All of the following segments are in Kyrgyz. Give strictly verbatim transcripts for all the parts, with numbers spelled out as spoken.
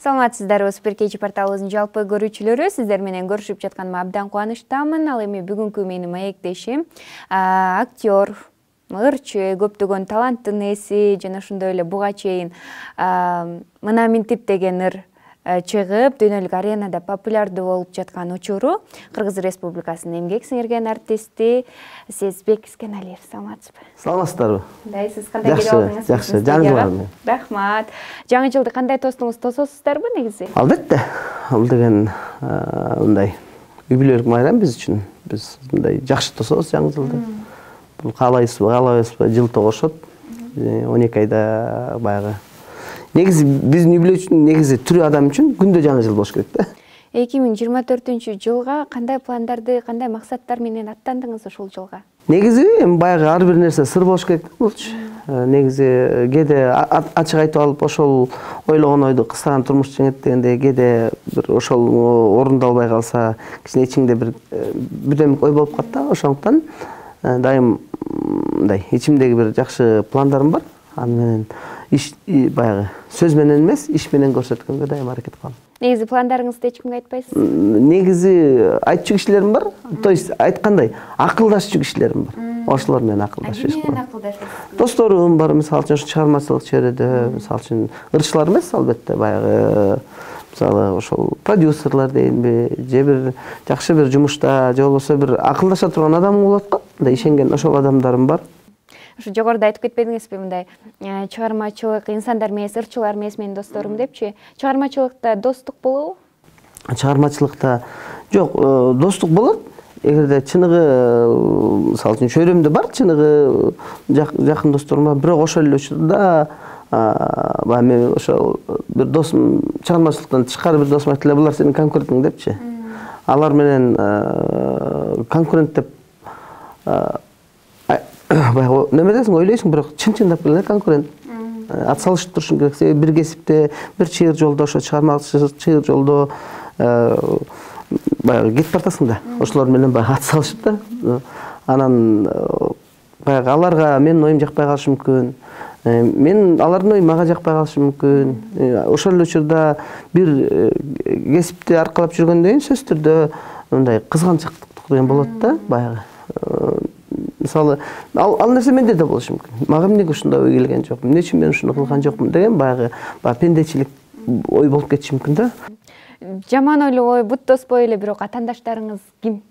Саламатсыздарбы, Супер Кечи порталыбыздын жалпы көрүүчүлөрү, сиздер менен көрүшүп жатканыма абдан кубанычтамын. Ал эми бүгүнкү менин маектешим актер, ырчы, көптөгөн таланттын ээси жана ошондой эле буга чейин Мына Минтип деген ыр чыгып, дүйнөлүк аренада популярдуу болуп жаткан учуру Кыргыз Республикасынын эмгек сиңирген артисти Сезбек Искеналиев. Саламатсызбы? Саламатсыздарбы? Кандайсыз? Кандай келип алдыңыз? Жакшы, жаңы жыл менен. Рахмат. Жаңы жылды кандай тостуңуз? Тососуздарбы негизи? Албетте. Ал деген мындай юбилейлик майрам биз үчүн. Биз мындай жакшы тособуз жаңы жылды. Бул каалайбызбы, каалабайбызбы, жыл тогошот. он эки айда баягы. Негизи биздин юбилей үчүн негизи түрү адам үчүн күндө жаңы жыл болуш керек да. эки миң жыйырма төртүнчү жылга кандай пландарды, кандай максаттар менен аттандыңыз ошол жылга? Негизи эми баягы ар бир нерсе сыр болуш керек да булчу. Негизи кээде ачык айтып алып ошол ойлогон ойду кыстаган турмуш жеңет дегендей, кээде бир ошол орундалбай калса, кичине ичиңде бир бүдөмүк ой болуп калат да. Ошондуктан дайым мындай ичимдеги бир жакшы пландарым бар. Аны менен иш баягы сөз менен эмес, иш менен көрсөткөнгө дайым аракет кылам. Негизи пландарыңызды эч кимге айтпайсыз? Негизи айтчу кишилерим бар. То есть айткандай, акылдашчу кишилерим бар. Ошолор менен акылдашып эш кылам. Досторум бар, мисалы үчүн чыгармачылык чөйрөдө, мисалы үчүн ырчылар эмес, албетте, баягы мисалы ошол продюсерлер дейинби, же бир жакшы бир жумушта, же болбосо бир акылдаша турган адам болот го. Мындай ишенген ошол адамдарым бар. Ушу жогоруда айтып кетпедиңизби, мындай чыгармачылык инсандар эмес, ырчылар эмес менин досторум депчи? Чыгармачылыкта достук болобу? Чыгармачылыкта жок, достук болот. Эгерде чыныгы, мисалы үчүн чөйрөмдө бар, чыныгы жакын досторум бар, бирок ошол эле учурда баягы мен ошол бир досум чыгармачылыктан тышкары бир досум айтты эле, булар сенин конкурентиң депчи. Алар менен конкурент деп баягы неме десиң, ойлойсуң, бирок чын-чындап келгенде конкурент. Ат салышып турушуң керек. Себеби бир кесипте, бир чыйыр жолдо, ошо чыгармачылык чыйыр жолдо баягы кетип бартасың да. Ошолор менен баягы ат салышып да. Анан баягы аларга менин оюм жакпай калышы мүмкүн. Мен алардын ою мага жакпай калышы мүмкүн. Ошол эле учурда бир кесипти аркалап жүргөндөн кийин сөзсүз түрдө мындай кызганчыктык деген болот да, баягы. Мисалы, ал, ал нерсе менде да болушу мүмкүн. Мага эмнеге ушундай ой келген жок, эмне үчүн мен ушуну кылган жокмун деген баягы баягы пендечилик ой болуп кетиши мүмкүн да. Жаман ойлуу ой бут тоспой эле, бирок атаандаштарыңыз ким?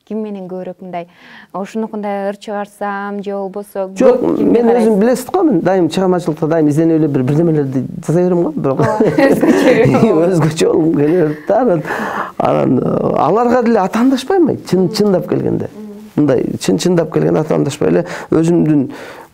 Ким менен көбүрөөк мындай ушунукундай ыр чыгарсам же болбосо? Жок, мен өзүм билесиз го, мен дайым чыгармачылыкта дайым изденип эле бир бирдемелерди жасай берем го, бирок өзгөчө болгум келет да. Анан аларга деле атаандашпайм, чын чындап келгенде. Мындай чын-чындап келген атаандашпай эле өзүмдүн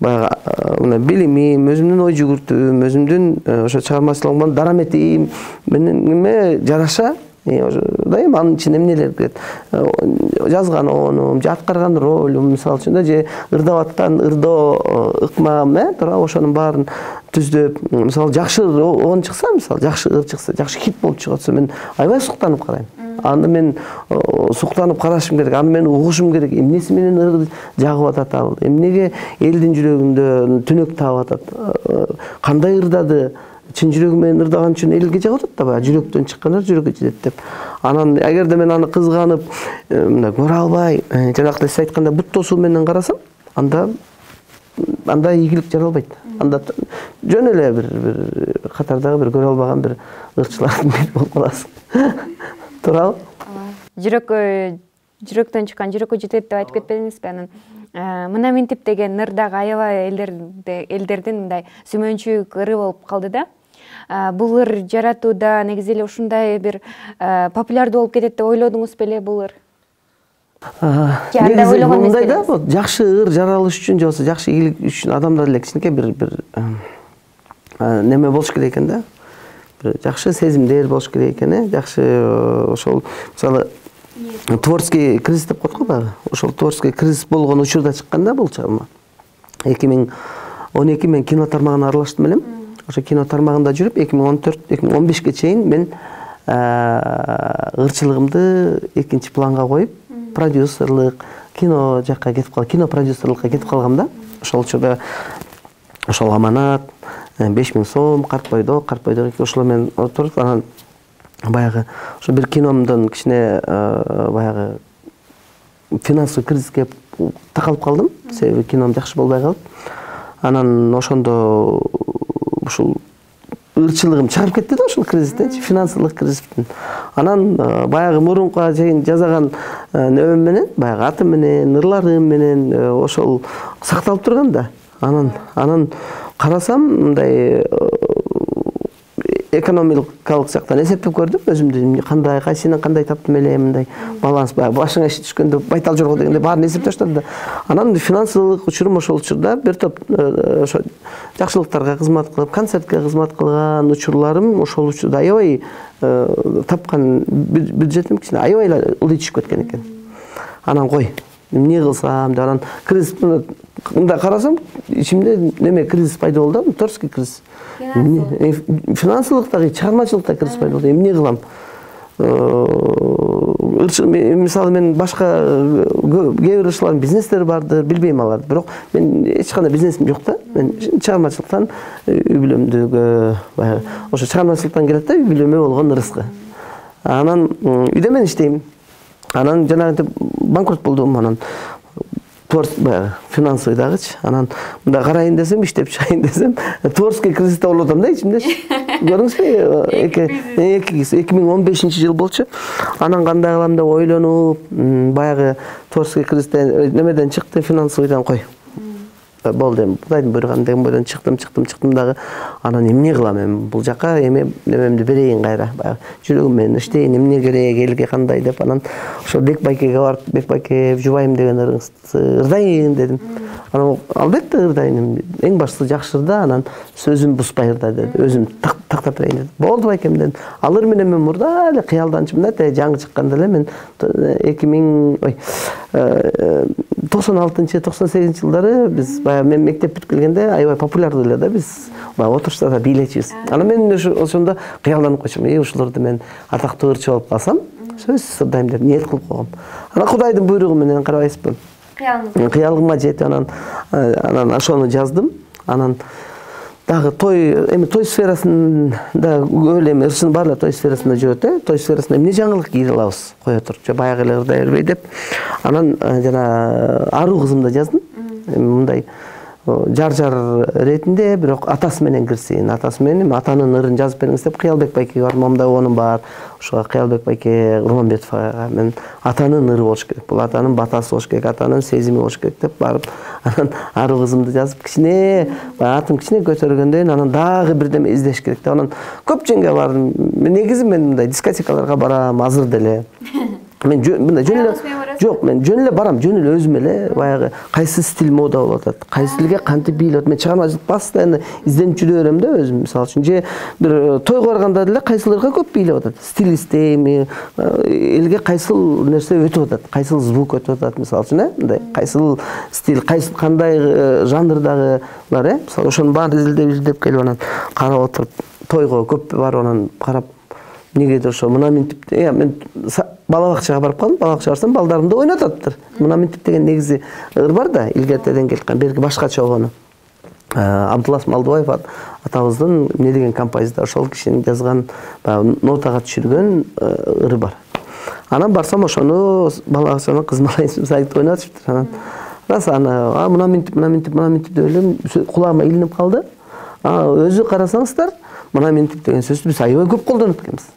баягы мына билимим, өзүмдүн ой жүгүртүүм, өзүмдүн ошо чыгармачылыгымдан дараметим менен эме жараша дайым анын ичине эмнелер кирет. Жазган оонум, же аткарган ролум, мисалы үчүн да, же ырдап аткан ырдоо ыкмам, э, туура ошонун баарын түздөп, мисалы жакшы оон чыкса, мисалы жакшы ыр чыкса, жакшы хит болуп чыгып атса, мен аябай суктанып карайм. Аны мен суктанып карашым керек, аны мен угушум керек. Эмнеси менен ыр жагып атат ал? Эмнеге элдин жүрөгүндө түнөк таап атат? Кандай ырдады? Чын жүрөгү менен ырдаган үчүн элге жагып атат да, баягы жүрөктөн чыккан ыр жүрөккө жетет деп. Анан эгерде мен аны кызганып, мындай көрө албай, жанакы сиз айткандай бут тосуу менен карасам, анда анда ийгилик жаралбайт. Анда жөн эле бир бир катардагы бир көрө албаган бир ырчылардын бири болуп каласың. Туурабы? Жүрөккө жүрөктөн чыккан жүрөккө жетет деп айтып кетпедиңизби? Анан Мына Минтип деген ыр дагы аябай элдердин мындай сүймөнчүк ыры болуп калды да. Бул ыр жаратууда негизи эле ушундай бир популярдуу болуп кетет деп ойлодуңуз беле бул ыр? Негизи мындай да, жакшы ыр жаралыш үчүн же болбосо жакшы ийгилик үчүн адамдар эле кичинекей бир бир неме болуш керек экен да. Бир жакшы сезимдер болуш керек экен, э, жакшы ошол мисалы творческий кризис деп коет го баягы. Ошол творческий кризис болгон учурда чыккан да бул чыгарма. эки миң он эки мен кино тармагына аралаштым элем. Ошо кино тармагында жүрүп, эки миң он төрт эки миң он бешке чейин мен ырчылыгымды экинчи планга коюп, продюсерлык, кино жакка кетип калгам, кино продюсерлыкка кетип калгам да. Ошол учурда ошол Аманат, беш миң сом, Карпойдо, Карпойдо ошолор менен отуруп, анан баягы ошо бир киномдон кичине баягы финансовый кризиске такалып калдым, себеби кином жакшы болбой калып. Анан ошондо ушул ырчылыгым чыгып кетти да ошол кризистен, финансылык кризистен. Анан баягы мурунка чейин жасаган небем менен, баягы атым менен, ырларым менен ошол сакталып турган да. Анан анан карасам, мындай экономикалык жактан эсептеп көрдүм өзүмдү, кандай, кайсынан кандай таптым эле, мындай баланс, башыңа иш түшкөндө байтал жорго дегенде баарын эсептеп таштадым да. Анан финансылык учурум ошол учурда бир топ ошо жакшылыктарга кызмат кылып, концертке кызмат кылган учурларым ошол учурда аябай тапкан бюджетим кичине аябай эле ылдый түшүп кеткен экен. Анан кой, эмне кылсам деп, анан кризис мындай карасам, ичимде неме кризис пайда болду, торский кризис. Финансылыктагы, чыгармачылыкта кризис пайда болду. Эмне кылам? Мисалы мен башка кээ бир ышылардын бизнестери бардыр, билбейм аларды. Бирок мен эч кандай бизнесим жок да. Мен чыгармачылыктан үй бүлөмдүгө, баягы ошо чыгармачылыктан келет да, үй бүлөмө болгон ырыскы. Анан үйдө мен иштейм. Анан жанагынтип банкрот болдум, анан баягы финансовый дагычы. Анан мындай карайын десем, иштеп чыгайын десем, творческий кризисте болуп атам да ичимдечи. Көрдүңүзбү? эки миң он бешинчи жыл болчу. Анан кандай кылам деп ойлонуп, баягы творческий кризисте немеден чыкты, финансовыйдан кой. Болду эми, Кудайдын буйруган деген бойдон чыктым, чыктым, чыктым дагы. Анан эмне кылам эми? Бул жака эми немемди берейин кайра. Баягы жүрөгүм менен иштейин, эмне керек, элге кандай деп. Анан ошо Бек байкеге барып, Бек байке жубайым деген ырыңызды ырдайын дедим. Анан албетте ырдайын, эң башкысы жакшы ырда, анан сөзүм бузбай ырда деди. Өзүм тактап берейин деди. Болду байкем дедим. Алыр менен мен мурда эле кыялданчымын да, жаңы чыкканда эле мен эки миң ой токсон алтынчы токсон сегизинчи жылдары биз баягы мен мектеп бүтүп келгенде аябай популярдуу эле да биз баягы отурушта да бийлечүбүз. Анан мен ошондо кыялданып койчумун, э ушуларды мен атактуу ырчы болуп калсам, сөзсүз ырдайм деп ниет кылып койгом. Анан Кудайдын буйругу менен карабайсызбы? Кыялыма жетип анан анан ошону жаздым. Анан дагы той, эми той сферасында көп эле эми ырчынын баары той сферасында жүрөт, э? Той сферасында эмне жаңылык кийип алабыз, кое туруп, же баягы эле ырдай бербей деп. Анан жана Аруу кызымды жаздым. Эми мындай жар-жар ретинде, бирок атасы менен кирсин, атасы менен атанын ырын жазып бериңиз деп Кыялбек байкеге бардым. Момундай оонум бар. Ошого Кыялбек байке Урманбетовага мен атанын ыры болуш керек, бул атанын батасы болуш керек, атанын сезими болуш керек деп барып, анан Аруу кызымды жазып, кичине атым кичине көтөргөндөн анан дагы бирдеме издеш керек деп, анан көп жерге бардым. Негизи мен мындай дискотекаларга барам, азыр деле. Мен мындай жөн эле жок, мен жөн эле барам, жөн эле өзүм эле баягы кайсы стиль мода болуп атат, кайсы стилге кантип бийлеп, мен чыгармачылык постоянно изденип жүрө берем да өзүм. Мисалы үчүн же бир тойго барганда деле кайсыларга көп бийлеп атат, стиль издейм, элге кайсыл нерсе өтүп атат, кайсыл звук өтүп атат, мисалы үчүн, э, мындай кайсыл стиль, кайсы кандай жанрдагылар, э, мисалы ошонун баарын изилдеп изилдеп келип анан карап отуруп, тойго көп барып анан карап, негедир ошо мына минтип, э, мен бала бакчага барып калдым, бала бакчага барсам балдарымды ойнотоптур. Мына минтип деген негизи ыр бар да, илгертеден келген, берги башкача болгону. Абдулас Малдыбаев атабыздын эмне деген композитор, ошол кишинин жазган, нотага түшүргөн ыры бар. Анан барсам ошону бала бакчанын кыз малайын сайт ойнотуптур. Анан раса аны мына минтип, мына минтип, мына минтип деп элем, кулагыма илинип калды. Өзү карасаңыздар, мына минтип деген сөздү биз аябай көп колдонот экенбиз.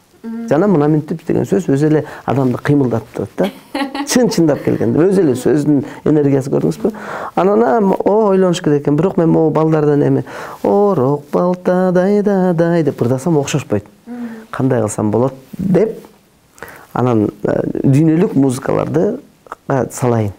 Жана мына минтип деген сөз өзү эле адамды кыймылдатып турат да. Чын-чындап келгенде өзү эле сөздүн энергиясы, көрдүңүзбү? Анан о ойлонуш керек экен, бирок мен могу балдардан эми орок балтадай дадай деп ырдасам окшошпойт. Кандай кылсам болот деп анан дүйнөлүк музыкаларды салайын.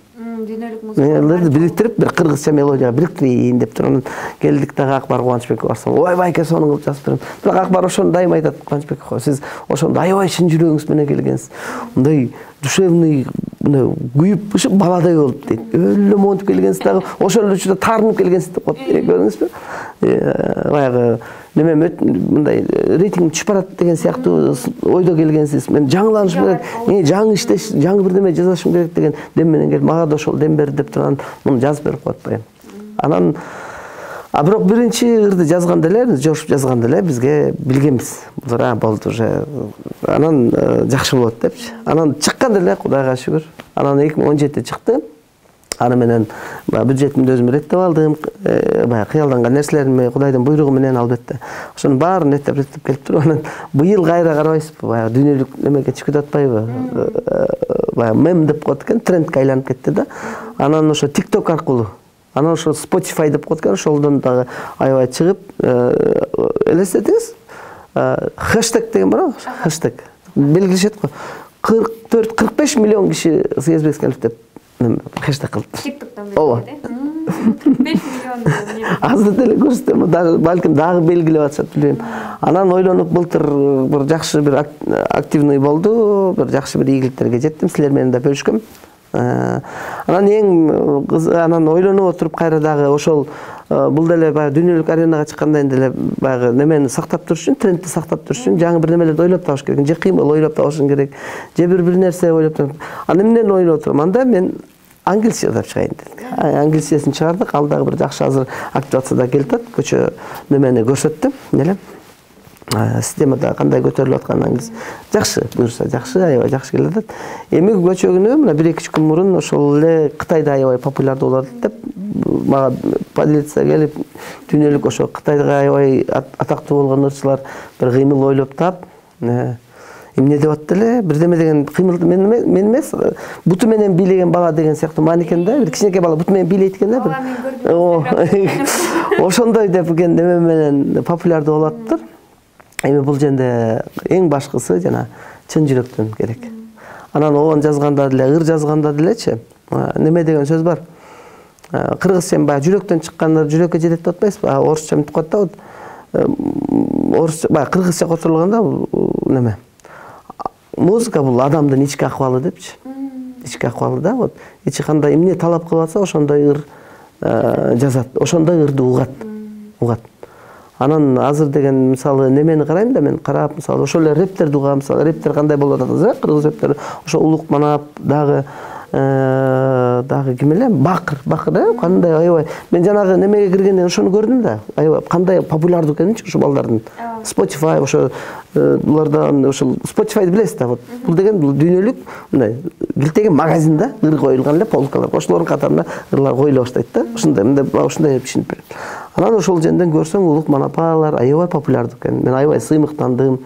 Дүйнөлүк музыкаларды бириктирип, бир кыргызча мелодияга бириктирейин деп туруп, анан келдик дагы Акбар Кубанычбекке барсам, ой байке сонун кылып жазып берем. Бирок Акбар ошону дайым айтат, Кубанычбек ага, сиз ошондо аябай чын жүрөгүңүз менен келгенсиз. Мындай душевный, мындай күйүп ушуп баладай болуп дейт. Өлө монтип келгенсиз дагы, ошол эле учурда таарынып келгенсиз деп коет. Көрдүңүзбү? Баягы неме мындай рейтинг түшүп барат деген сыяктуу ойдо келгенсиз. Мен жаңыланышым керек, жаңы иштеш, жаңы бирдеме жазышым керек деген дем менен келип, мага да ошол дем берди деп турган муну жазып берип коет баягы. Анан А бирок биринчи ырды жазганда эле, жошуп жазганда эле бизге билгенбиз. Булар болду уже. Анан жакшы болот депчи. Анан чыкканда эле Кудайга шүгүр. Анан эки миң он жетиде чыкты. Аны менен бюджетимди өзүм реттеп алдым. Баягы кыялданган нерселеримди Кудайдын буйругу менен албетте. Ошону баарын реттеп реттеп келип туруп анан быйыл кайра карабайсызбы? Баягы дүйнөлүк немеге чыгып атпайбы? Баягы мем деп коет экен, трендке айланып кетти да. Анан ошо TikTok аркылуу, анан ошо Spotify деп коет экен, ошолдон дагы аябай чыгып, элестетиңиз? Хэштег деген бар, хэштег. Белгилешет го. кырк төрт кырк беш миллион киши Сыйызбек Искенович деп хэштег кылды. TikTok'тон белгиледи. кырк беш миллион. Азыр деле көрсөтөм, дагы балким дагы белгилеп атышат, билбейм. Анан ойлонуп былтыр бир жакшы бир активный болду, бир жакшы бир ийгиликтерге жеттим, силер менен да бөлүшкөм. Анан эң анан ойлонуп отуруп кайра дагы ошол бул деле баягы дүйнөлүк аренага чыккандан кийин деле баягы немени сактап туруш үчүн, трендти сактап туруш үчүн жаңы бир немелерди ойлоп табыш керек. Же кыймыл ойлоп табышың керек, же бир бир нерсе ойлоп табыш. Аны эмнени ойлоп отурам? Анда мен англисче деп чыгайын дедик. Англисчесин чыгардык, ал дагы бир жакшы азыр активацияда келип атат. Көчө немени көрсөттүм, эле. Системада кандай көтөрүлүп атканын англис жакшы, буюрса жакшы, аябай жакшы келип атат. Эми көчөгүнө мына бир эки үч күн мурун ошол эле Кытайда аябай популярдуу болот деп мага полиция келип, дүйнөлүк ошо Кытайга аябай атактуу болгон ырчылар бир кыймыл ойлоп таап, эмне деп атты эле, бирдеме деген кыймыл мен мен эмес, буту менен бийлеген бала деген сыяктуу маан экен да, бир кичинекей бала буту менен бийлейт экен да, бир. Ошондой деп ген неме менен популярдуу болуп атыптыр. Эми бул жерде эң башкысы жана чын жүрөктөн керек. Анан оон жазганда деле, ыр жазганда делечи, неме деген сөз бар. Кыргызча баягы жүрөктөн чыккандар жүрөккө жетет деп атпайсызбы? Орусча мынтип коет да. Орусча баягы кыргызча которулганда неме? Музыка бул адамдын ички акыбалы депчи. Ички акыбалы да, вот. Ичи кандай эмне талап кылып атса, ошондой ыр жазат, ошондой ырды угат. Угат. Анан азыр деген мисалы немени карайм да, мен карап, мисалы ошол эле рептерди угам, мисалы рептер кандай болуп атат, кыргыз рептери, ошо Улук Манап, дагы дагы ким эле, Бакыр, Бакыр, кандай аябай. Мен жанагы немеге киргенден ошону көрдүм да, аябай кандай популярдуу экенинчи ошо балдардын. Spotify ошо булардан ошол Spotify'ды билесиз да, вот. Бул деген бул дүйнөлүк мындай билтеген магазин да, ыр коюлган эле полкалар. Ошолордун катарына ырлар коюла баштайт да. Ушундай, мындай ушундай түшүнүп берет. Анан ошол жерден көрсөң Улук Манапалар аябай популярдуу экен. Мен аябай сыймыктандым.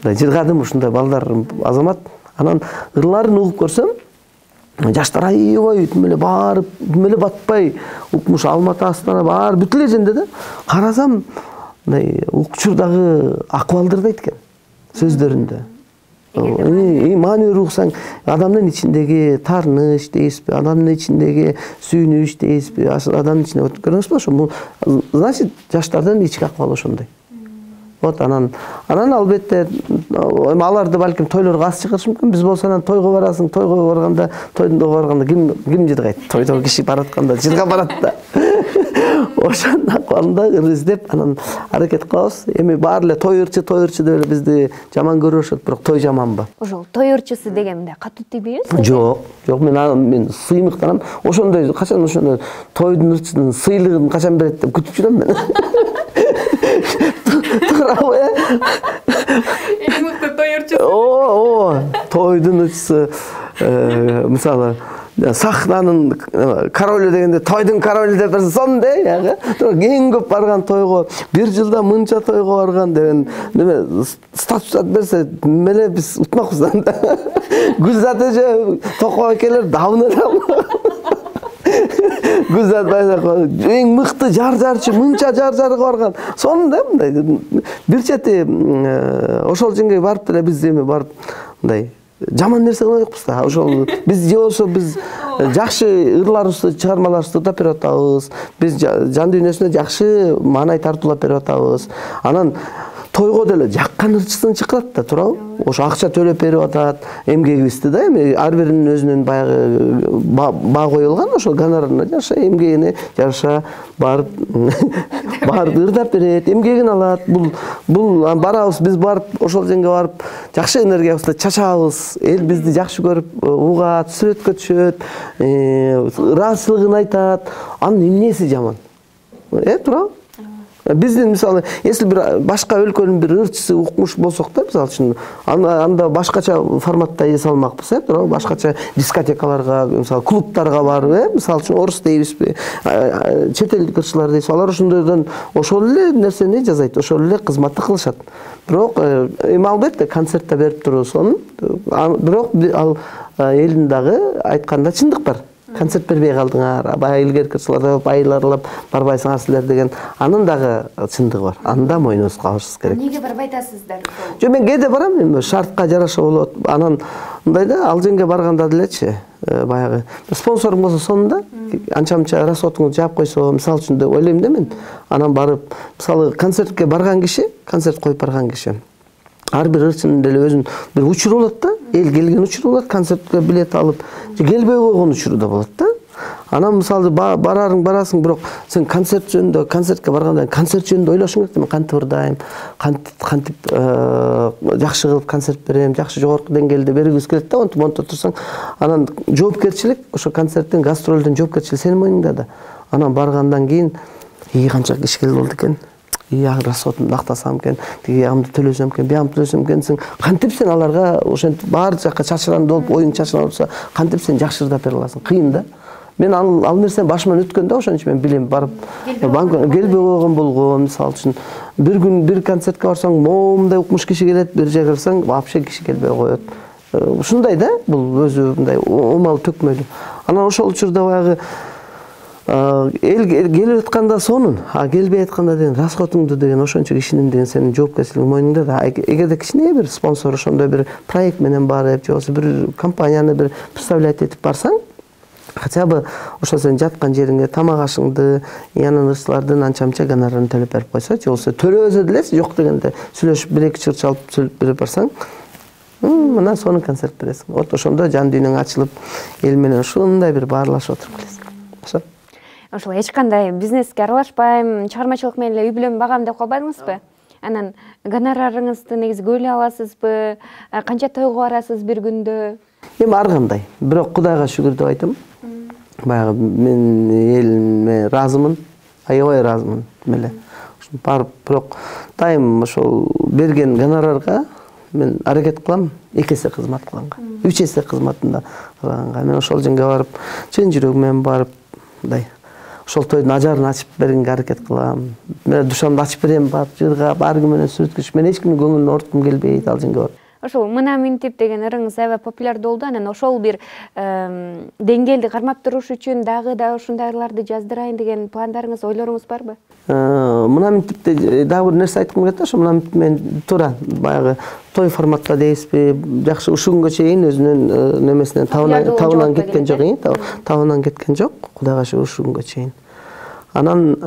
Мындай жыргадым ушундай балдар азамат. Анан ырларын угуп көрсөм, жаштар аябай түмөлө барып, түмөлө батпай, укмуш Алматы, Астана бар бүт эле жерде да. Карасам, мындай укчурдагы акыбалдарды айткан сөздөрүндө. И маанилүү уксаң, адамдын ичиндеги таарыныч дейсизби, адамдын ичиндеги сүйүнүч дейсизби, адамдын ичинде көрүңүзбү ошо, значит, жаштардын ички акыбалы ошондой. Вот анан, анан албетте аларды балким тойлорго аз чыгарышы мүмкүн. Биз болсо анан тойго барасың, тойго барганда, тойдо барганда ким ким жыргайт? Тойдо киши баратканда жырга барат да. Ошондун акыбалында ыр издеп, анан аракет кылабыз. Эми баары эле той ырчы, той ырчы деп эле бизди жаман көрүшөт, бирок той жаманбы? Ошол той ырчысы деген мындай катуу тийбейбизби? Жок, жок, мен мен сыймыктанам. Ошондой качан ошондой тойдун ырчысынын сыйлыгын качан берет деп күтүп жүрөм мен. Туурабы? Эң мыкты той ырчысы. О, тойдун ырчысы, мисалы сахнанын королу дегенде тойдун королу деп берсе сондай, эң көп барган тойго, бир жылда мынча тойго барган деген неме статус берсе, меле биз утмакпыз да. Гүлзат эже, Токой экелер давны да. Гүлзат Байзакова эң мыкты жар-жарчы, мынча жар-жарга барган. Сонун да мындай. Бир чети ошол жерге барып деле биз эми барып мындай жаман нерсе кылбайбыз да. Ошол биз же болсо биз жакшы ырларыбызды, чыгармаларыбызды да берип атабыз. Биз жан дүйнөсүнө жакшы маанай тартуулап берип атабыз. Анан тойго деле жаккан ырчысын чакырат да, туурабы? Ошо акча төлөп берип атат, эмгегибизди да, эми ар биринин өзүнүн баягы баа коюлган, ошол гонорарына жараша, эмгегине жараша барып барып ырдап берет, эмгегин алат. Бул бул барабыз, биз барып ошол жерге барып жакшы энергиябызды чачабыз, эл бизди жакшы көрүп угат, сүрөткө түшөт, ыраазычылыгын айтат. Анын эмнеси жаман? Э, туурабы? Биздин мисалы, если бир башка өлкөнүн бир ырчысы укмуш болсок да, мисалы үчүн, анда башкача форматта эс алмакпыз, э, туурабы? Башкача дискотекаларга, мисалы, клубтарга барып, э, мисалы үчүн орус дейбизби, чет элдик ырчылар дейбиз. Алар ошондойдон ошол эле нерсени жазайт, ошол эле кызматты кылышат. Бирок эми албетте концертте берип турусун, бирок ал элдин дагы айтканда чындык бар. Концерт бербей калдыңар, баягы илгерки ырчылар байларлап барбайсыңар силер деген, анын дагы чындыгы бар. Аны да мойнубузга алышыбыз керек. Эмнеге барбай атасыздар? Жок, мен кээде барам, эми шартка жараша болот. Анан мындай да, ал жерге барганда делечи, баягы спонсорум болсо сонунда анча-мынча расходуңду жаап койсо, мисалы үчүн деп ойлойм да мен. Анан барып, мисалы концертке барган киши, концерт коюп барган киши ар бир ырчынын деле өзүнүн бир учуру болот да. Эл келген учуру болот, концертке билет алып, келбей койгон учуру да болот да. Анан мисалы барарың барасың, бирок сен концерт жөнүндө, концертке барганда концерт жөнүндө ойлошуң керек. Мен кантип ырдайм, кантип жакшы кылып концерт берем, жакшы жогорку деңгээлде бергибиз келет да. Монтип монто турсаң, анан жоопкерчилик, ошо концерттин, гастролдун жоопкерчилиги сенин мойнуңда да. Анан баргандан кийин, ии канча киши келип болду экен. Я расходымды актасам экен, тиги ягымды төлөсөм экен, биягымды төлөсөм экенсиң. Кантип сен аларга ошентип баары жакка чачыран болуп, оюң чачыран болсо, кантип сен жакшы ырдап бере аласың? Кыйын да. Мен ал ал нерсени башыман өткөн да, ошон үчүн мен билем, барып келбей койгон болгон, мисалы үчүн бир күн бир концертке барсаң, момундай укмуш киши келет, бир жерге барсаң, вообще киши келбей коет. Ушундай да, бул өзү мындай омал төкмөлүү. Анан ошол учурда баягы эл келип атканда сонун, а келбей атканда деген расходуңду деген ошончо кишинин деген сенин жоопкерчилигиң мойнуңда да. Эгерде кичине бир спонсор ошондой бир проект менен барып, же болбосо бир компанияны бир представлять этип барсаң, хотя бы ошо сен жаткан жериңе тамак ашыңды, янын ырчылардын анча-мынча гонорарын төлөп берип койсо, же болбосо төлөбөсө деле жок дегенде сүйлөшүп бир эки чыр чалып сүйлөп берип барсаң, мына сонун концерт бересиң. Вот ошондо жан дүйнөң ачылып, эл менен ушундай бир баарлашып отуруп келесиң. Ошо. Ошол эч кандай бизнеске аралашпайм, чыгармачылык менен эле үй бүлөмдү багам деп калбадыңызбы? Анан гонорарыңызды негизи бөлө аласызбы? Канча тойго барасыз бир күндө? Эми ар кандай. Бирок Кудайга шүгүр деп айтам. Баягы мен элиме ыраазымын, аябай ыраазымын эле. Ошо барып, бирок дайым ошол берген гонорарга мен аракет кылам эки эсе кызмат кылганга, үч эсе кызматында кылганга. Мен ошол жерге барып, чын жүрөгүм менен барып, мындай ошол тойдун ажарын ачып бергенге аракет кылам. Мен душамды ачып берем, барып жыргап, ар ким менен сүрөткүчүп, мен эч кимдин көңүлүн ооруткум келбейт ал жерге барып. Ошол мына минтип деген ырыңыз аябай популярдуу болду. Анан ошол бир деңгээлди кармап туруш үчүн дагы да ушундайларды жаздырайын деген пландарыңыз, ойлоруңуз барбы? Мына минтипте дагы бир нерсе айткым келет да, ошо мына минтип мен туура баягы той форматта дейбизби, жакшы ушул күнгө чейин өзүнүн немесинен табынан кеткен жок, табынан кеткен жок, Кудайга шүгүр ушул күнгө чейин. Анан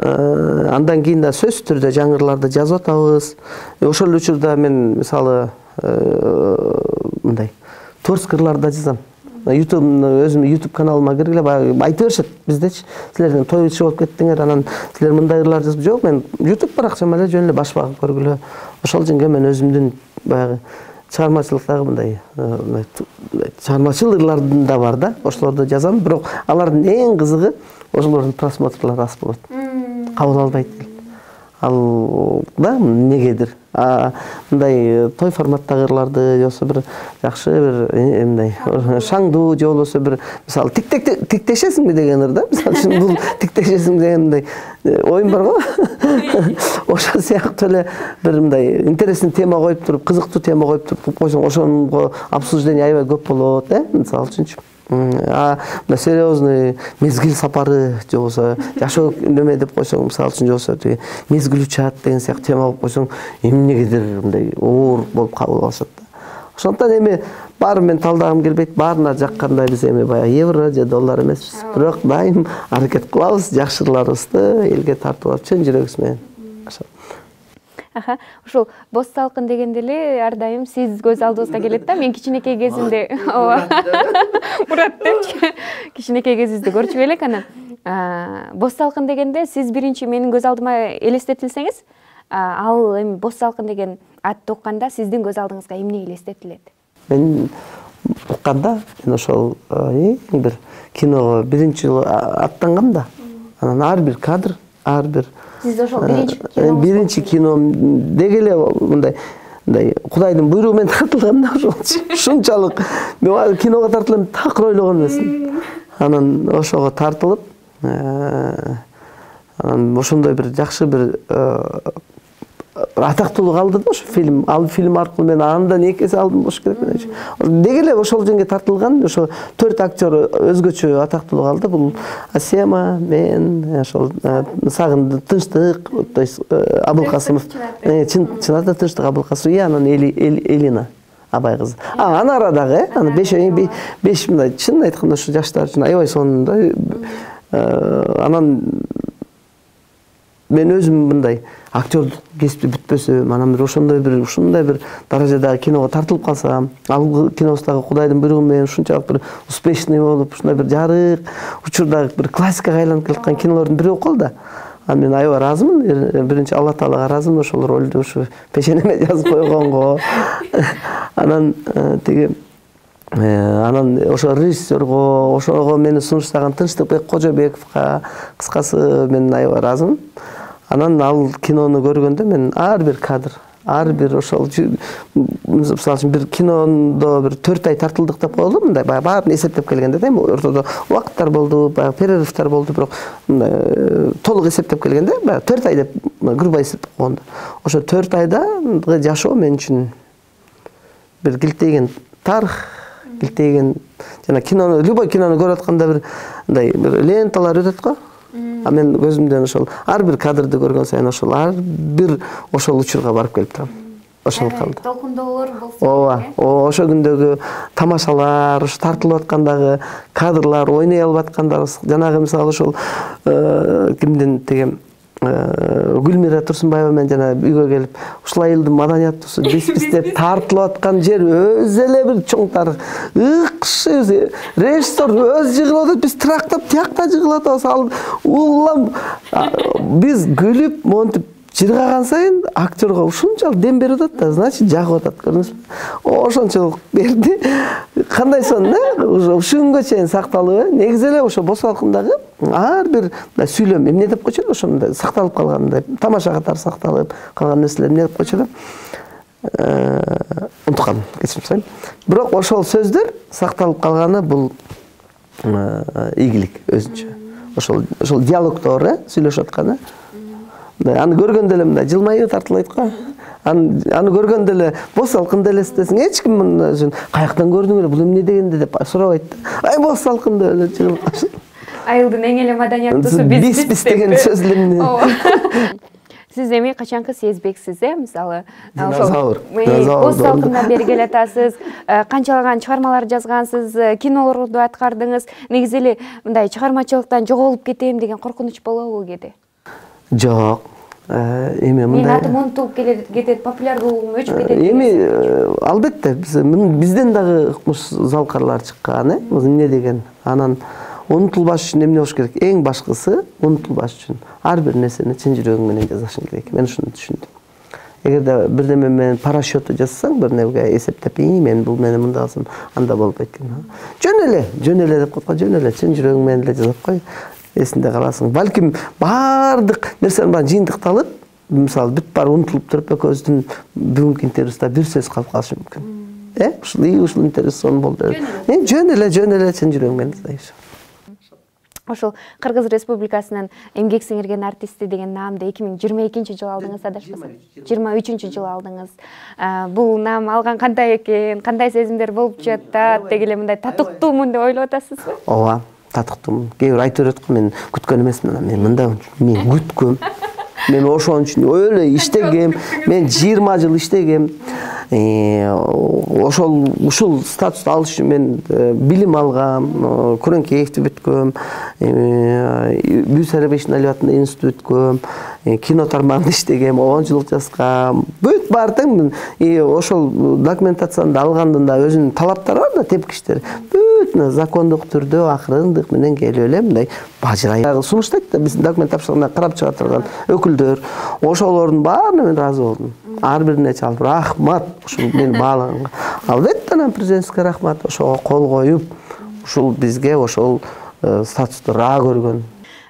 андан кийин да сөзсүз түрдө жаңырларды жазып атабыз. Ошол учурда мен мисалы мындай творческий ырларды жазам. YouTube өзүм YouTube каналыма киргиле баягы айтып беришет биздечи. Силердин той ичи болуп кеттиңер, анан силер мындай ырлар жазып жок, мен YouTube баракчама эле жөн эле баш багып көргүлө. Ошол жерге мен өзүмдүн баягы чыгармачылыктагы мындай чыгармачыл ырлардын да бар да, ошолорду жазам, бирок алардын эң кызыгы ошолордун просмотрлары аз болот. Кабыл албайт. Ал да негедир. Мындай той форматтагы ырларды, же болбосо бир жакшы бир мындай шаңдуу, же болбосо бир мисалы тиктешесиңби деген ыр да. Мисалы үчүн бул тиктешесиң деген мындай оюм бар го. Ошол сыяктуу эле бир мындай интересный тема коюп туруп, кызыктуу тема коюп туруп койсоң, ошонго обсуждение аябай көп болот, э? Мисалы үчүнчү. А серьезный мезгил сапары, же болбосо жашоо неме деп койсоң, мисалы үчүн же болбосо тиги мезгил учат деген сыяктуу тема коюп койсоң, эмнегедир мындай оор болуп кабыл алышат да. Ошондон эми баары мен талдагым келбейт, баарына жаккандай биз эми баягы евро же доллар эмеспиз. Бирок дайым аракет кылабыз жакшырларыбызды элге тартып алып чын жүрөгүбүз менен. Аха, ушул бос салкын дегенде эле ар дайым сиз көз алдыбызга келет да. Мен кичинекей кезимде, ооба. Мурат депчи, кичинекей кезибизди көрчү элек анан. Бос салкын дегенде сиз биринчи менин көз алдыма элестетилсеңиз, ал эми бос салкын деген атты укканда сиздин көз алдыңызга эмне элестетилет? Мен укканда мен ошол эң бир киного биринчи жолу аттангам да. Анан ар бир кадр, ар бир Сиз ошол биринчи кино биринчи кино деги эле мындай мындай Кудайдын буйругу менен тартылган да ошол. Ушунчалык мен киного тартылам такыр ойлогон эмесмин. Анан ошого тартылып, анан ошондой бир жакшы бир атактуулук алды да ошо фильм. Ал фильм аркылуу мен андан эки эсе алдым болуш керек менчи. Деги эле ошол жерге тартылган ошо төрт актер өзгөчө атактуулук алды. Бул Асема, мен, ошол Сагындын Тынчтык, то есть Абылкасымов. Чынында Тынчтык Абылкасымов, и анан Элина Абай кызы. А, аны арадагы, аны беш беш мындай чын айтканда ушу жаштар үчүн аябай сонунда. Анан мен өзүм мындай актерлук кесипти бүтпөсөм, анан бир ошондой бир ушундай бир даражадагы киного тартылып калсам, ал кинобуздагы Кудайдын буйругу менен ушунчалык бир успешный болуп, ушундай бир жарык учурдагы бир классикага айланып келаткан кинолордун бири болуп калды. Анан мен аябай ыраазымын. Биринчи Алла Таалага ыраазымын ошол ролду ушу пешенеме жазып койгонго. Анан тиги анан ошо режиссерго, ошого мени сунуштаган Тынчтыкбек Кожобековго, кыскасы мен аябай ыраазымын. Анан ал кинону көргөндө мен ар бир кадр, ар бир ошол мисалы үчүн бир кинондо бир төрт ай тартылдык деп коелу, мындай баягы баарын эсептеп келгенде да, эми ортодо убакыттар болду, баягы перерывтар болду, бирок мындай толук эсептеп келгенде баягы төрт ай деп грубо эсептеп койгондо. Ошо төрт айда жашоо мен үчүн бир килтейген тарых, килтейген жана кинону, любой кинону көрүп атканда бир мындай бир ленталар өтөт го. А мен көзүмдөн ошол ар бир кадрды көргөн сайын ошол ар бир ошол учурга барып келип турам. Ошол калды. Толкундоолор болсо. Ооба, ошо күндөгү тамашалар, ушу тартылып аткандагы кадрлар, ойной алып аткандар, жанагы мисалы ошол кимдин деген Гүлмира Турсунбаева менен жана үйгө келип, ушул айылдын маданияттуусу биз-биз деп тартылып аткан жер өзү эле бир чоң тарых. Ыкшы режиссер өзү жыгылып атат, биз трактап тиякта жыгылып атабыз. Улам биз күлүп, монтип жыргаган сайын актерго ушунчалык дем берип атат да, значит жагып атат, көрдүңүзбү? Ошончолук берди. Кандай сон, э? Ушул күнгө чейин сакталып, негизи эле ошо Бос Салкындагы ар бир сүйлөм эмне деп койчу эле, ошондой сакталып калгандай, тамаша катары сакталып калган нерселер эмне деп койчу эле? Унутуп калдым, кечирим сурайм. Бирок ошол сөздөр сакталып калганы бул ийгилик өзүнчө. Ошол ошол диалогдор, э, сүйлөшүп атканы. Аны көргөндө эле мындай жылмайып тартылайт го. Аны аны көргөндө эле Бос Салкында элестесең, эч ким мына каяктан көрдүң эле, бул эмне дегенде деп сурабайт. Ай Бос Салкында эле жыгылып калышат. Айылдын эң эле маданияттуусу биз биз деген сөз эле. Сиз эми качанкы сезбексиз, э? Мисалы, ошол Бос Салкындан бери келатасыз, канчалаган чыгармалар жазгансыз, кинолорду аткардыңыз. Негизи эле мындай чыгармачылыктан жоголуп кетем деген коркунуч болобу кээде? Жок. Эми мындай. Мен атым унутулуп кетет, популярдуулугум өчүп кетет. Эми албетте бизден дагы ыкмыш залкарлар чыккан, э? Эмне деген. Анан унутулбаш үчүн эмне болуш керек? Эң башкысы унутулбаш үчүн ар бир нерсени чын жүрөгүң менен жазышың керек. Мен ушуну түшүндүм. Эгерде бирдеме менен парашюту жазсаң, бир нерге эсептеп, мен бул мени мындай кылсам, анда болбойт экен. Жөн эле, жөн эле деп койгон, жөн эле чын жүрөгүң менен эле жазып кой. Эсинде каласың. Балким баардык нерсенин баары жыйынтыкталып, мисалы бүт баары унутулуп туруп, экөөбүздүн бүгүнкү интервьюда бир сөз калып калышы мүмкүн. Э, ушул и ушул интервью сон болду. Э, жөн эле, жөн эле чын жүрөгүң менен жазайсың. Ошол Кыргыз Республикасынын эмгек сиңирген артисти деген наамды эки миң жыйырма экинчи жылы алдыңыз, адашпасам. жыйырма үчүнчү жылы алдыңыз. Бул наам алган кандай экен, кандай сезимдер болуп жатат, деги эле мындай татыктуумун деп ойлоп атасызбы? Ооба, татыктуумун. Кээ бир айтып берет го, мен күткөн эмесмин, мен мындай, мен күткөм. Мен ошон үчүн өлө иштегем, мен жыйырма жыл иштегем. Ошол ушул статусту алыш үчүн мен билим алгам, Күрөңкеевди бүткөм, Бүүс Арабештин Алибатында институт бүткөм, кино тармагында иштегем, оюнчулук жазгам. Бүт баары тең ошол документацияны алгандын да өзүнүн талаптары бар да, тепкичтери. Бүт закондук түрдө акырындык менен келип эле мындай бажырай сунуштайт да, биздин документ тапшырганда карап чыга турган өкүлдөр. Ошолордун баарына мен ыраазы болдум. Ар бирине чалып рахмат, ушул мени баалаганга. Албетте анан президентке рахмат, ошого кол коюп, ушул бизге ошол статусту ра көргөн.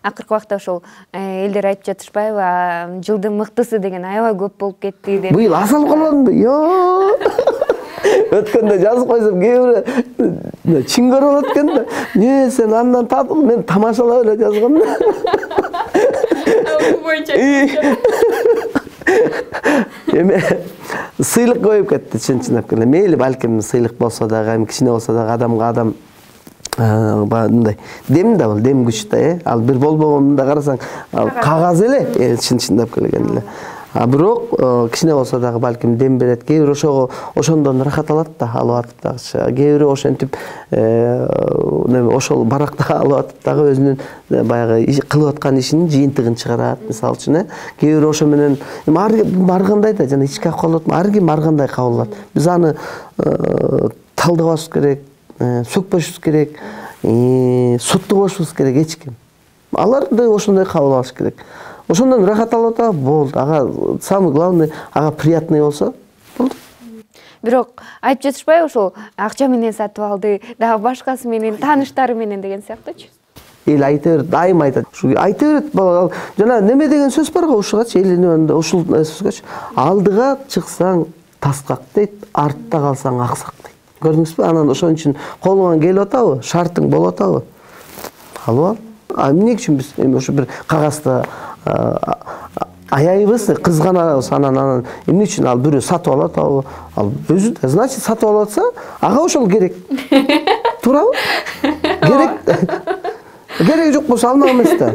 акыркы убакта ошол элдер айтып жатышпайбы, жылдын мыктысы деген аябай көп болуп кетти деп. Быйыл асал колонду. Йоо. Өткөндө жазып койсом кээ бирөө чиң көрүп алат экен да. Не сен андан татып, мен тамашалап эле жазгам да. Эме сыйлык коюп кетти, чын-чындап келе. Мейли балким сыйлык болсо дагы, эми кичине болсо дагы адамга адам мындай дем да бул, дем күч да, э. Ал бир болбогонун да карасаң, кагаз эле, чын-чындап келген эле. А бирок кичине болсо дагы балким дем берет. Кээ бир ошого ошондон рахат алат да, алып атып дагычы. Кээ бир ошентип ошол баракта алып атып дагы өзүнүн баягы кылып аткан ишинин жыйынтыгын чыгарат. Мисалы үчүн, э, кээ бир ошо менен ар кандай да жана ички акыбалат, ар ким ар кандай кабыл алат. Биз аны талдабашыбыз керек, сөкпөшүбүз керек, суттубашыбыз керек эч ким. Аларды ошондой кабыл алыш керек. Ошондон рахат алып атат, болду. Ага самый главный, ага приятный болсо, болду. Бирок айтып жатышпайбы, ошол акча менен сатып алды, дагы башкасы менен, тааныштары менен деген сыяктуучу. Эл айта берет, дайым айтат. Ушу айта берет, жана неме деген сөз бар го ушугачы, элинин ушул сөзгөчү. Алдыга чыксаң таскак дейт, артта калсаң аксак дейт. Көрдүңүзбү? Анан ошон үчүн колуңан келип атабы, шартың болуп атабы? Алып ал. А эмне үчүн биз эми ошо бир кагазда аяйбыз, кызганабыз, анан анан эмне үчүн ал бирөө сатып алып атабы? Ал өзү да, значит, сатып алып атса, ага ошол керек. Туурабы? Керек. Кереги жок болсо алмак эмес да.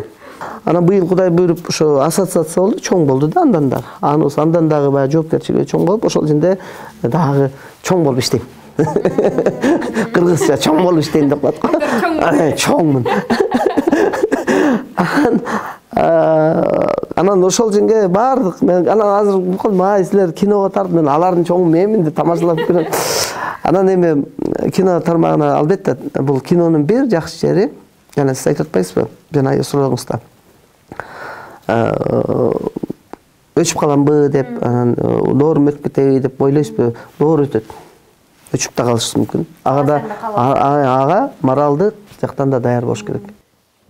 Анан быйыл Кудай буйруп ошо ассоциация болду, чоң болду да андан дагы. Анысы андан дагы баягы жоопкерчилиги чоң болуп, ошол жерде дагы чоң болуп иштейм. Кыргызча чоң болуп иштейм деп коет го. Чоңмун. Анан ошол жерге бардык. Мен анан азыр май силер киного тартып, мен алардын чоңу менмин деп тамашалап көрөм. Анан эми кино тармагына албетте бул кинонун бир жакшы жери, жана сиз айтып атпайсызбы? Жана сурооңузда. Өчүп каламбы деп, анан доорум өтүп кетеби деп ойлойсузбу? Доор өтөт. Өчүп да калышы мүмкүн. Ага да ага моралдык жактан да даяр болуш керек.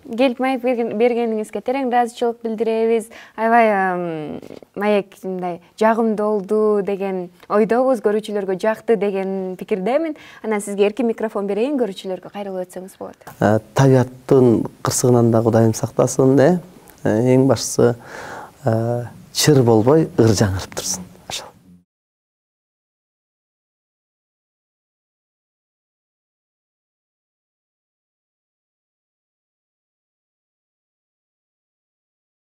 Келип маек бергениңизге терең ыраазычылык билдиребиз. Аябай маек мындай жагымдуу болду деген ойдобуз, көрүүчүлөргө жакты деген пикирдемин. Анан сизге эркин микрофон берейин, көрүүчүлөргө кайрылып өтсөңүз болот. Табиаттын кырсыгынан да Кудайым сактасын, э? Эң башкысы чыр болбой ыр жаңырып турсун.